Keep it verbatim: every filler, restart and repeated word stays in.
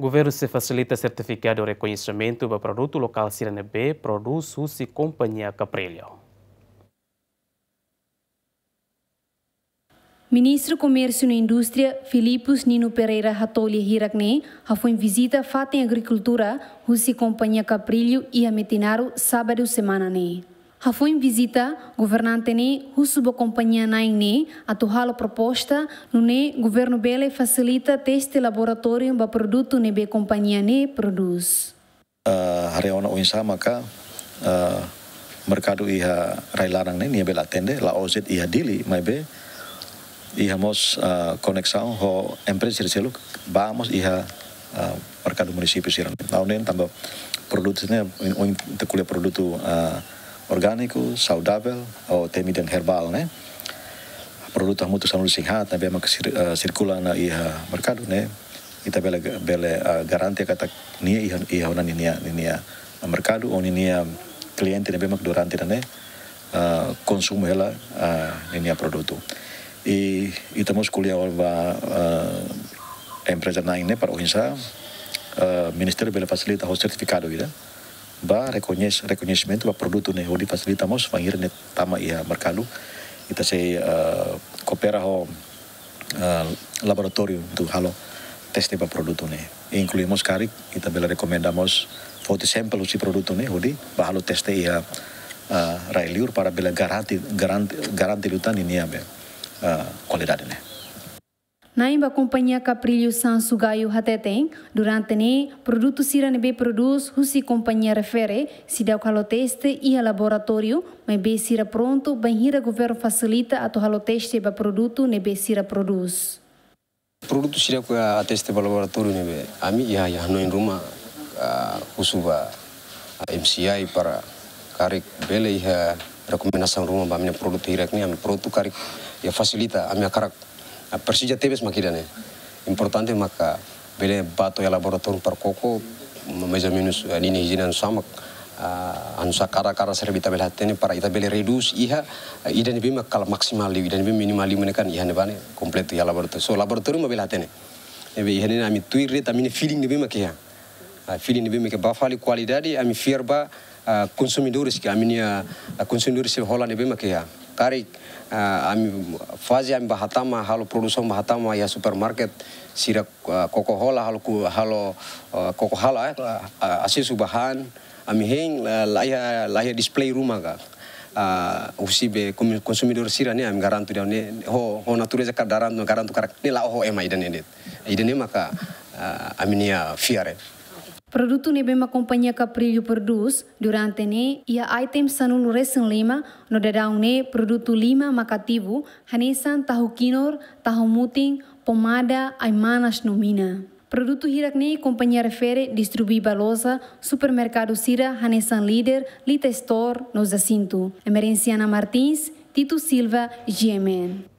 Governu sei fasilita sertifikadu rekoñesimentu ba produtu lokál sira ne'ebé prodús husi kompañia Caprilho. Ministru Komérsiu no Indústria, Filipus Nino Pereira Hatolha hirak ne'e hafoin vizita fatin agrikultura husi kompañia Caprilho iha Metinaro, sábadu semana ne'e. Hafoin vizita, governante ne'e husu ba kompañia na'in ne'e atu halo proposta, nune'e governu bele fasilita teste laboratóriu ba produtu ne'ebé kompañia ne'e prodús. Eh, haree ona oinsá maka, eh, merkadu iha rai-laran ne'e nia bele atende, la'ós de'it iha Dili, maibé iha mós, eh, koneksaun ho empreza sira seluk, ba mós iha, eh, merkadu munisípiu sira. Ha'u hanoin tanba produtu ne'e, oin, oin ita ko'alia produtu, eh, orgániku, saudavel, ou temi dehan herbál ne'e. Produtu hamutuk sanulu-resin-haat ne'ebé maka sir-, eh, sirkula ona iha merkadu ne'e. Ita bele, bele, ah, garante katak nia iha, iha ona ninia, ninia merkadu, ou ninia kliente ne'ebé mak durante ne'e, ah, konsumu hela, ah, ninia produtu. I ita mós ko'alia ba, ah, empreza na'in ne'e para oinsá, ah, ministériu bele fasilita ho sertifikadu ida ba rekoñes-, rekoñesimentu ba produtu ne'e hodi fasilita mós bainhira ne'e tama iha merkadu. Ita sei, ah, koopera ho, ah, laboratóriu atu halo teste ba produtu ne'e. Inklui mós karik, ita bele rekomenda mós foti sampel husi produtu ne'e hodi ba halo teste iha, ah, rai-liur para bele garante, garante, garante liután ninia be, ah, kualidade ne'e. Na'in ba kompañia Caprilho Sansu Gayo hateten, durante ne'e produtu sira ne'ebé prodús husi kompañia refere seidauk halo teste iha laboratóriu, maibé sira prontu bainhira governu fasilita atu halo teste ba produtu ne'ebé sira prodús. Produtu sira ke ateste ba laboratóriu ne'ebé ami iha, iha hanoin ruma, ah, husu ba, ah, M C I para karik bele iha rekomendasaun ruma ba ami-nia produtu hirak ne'e, ami prontu karik iha fasilita, ami hakarak, ah, presiza tebes mak ida-ne'e. Importante maka bele ba to'o iha laboratóriu para koko, mais ou menus, ah, ninia ijiene hanesan mak, ah, hanesan kada, kada sira ita bele hatene para ita bele redús iha, ah, ida ne'ebé mak kala maksimal liu, ida ne'ebé minimál liu ne'e kan iha ne'ebá ne'e kompletu iha laboratóriu. So laboratóriu mak bele hatene. Ne'ebé iha ne'e ami tuir de'it ami-nia feeling ne'ebé mak iha. Ah, feeling ne'ebé mak iha ba fali kualidade, ami fiar ba, ah, konsumidores ke ami-nia, ah, konsumidores sira hola ne'ebé mak iha. Karik, ah, ami faze ami ba hatama, halo produsaun ba hatama iha supermarket, sira, ah, koko hola, halo ku-, halo, ah, koko hola, eh, ah, asesu ba han, ami hein, la, la iha, la iha display ruma ka. Ah, husi be komi-, konsumidór sira ne'e, ami garantu ida-ne'e, ho, ho natureza ka daran, garantu karik ne'e la'o ho ema ida-ne'e de'it. Ida-ne'e maka, ah, ami-nia fiar. Produtu ne'ebé mak kompañia Caprilho prodús durante ne'e iha item sanulu-resin-lima, no daudaun ne'e produtu lima mak ativu, hanesan tahu kinur, tahu mutin, pomada, ai-manas no mina. Produtu hirak ne'e kompañia refere distribui ba loja supermerkadu sira hanesan Líder, Lita Store no Jacinto. Emerenciana Martins, Tito Silva, G M N.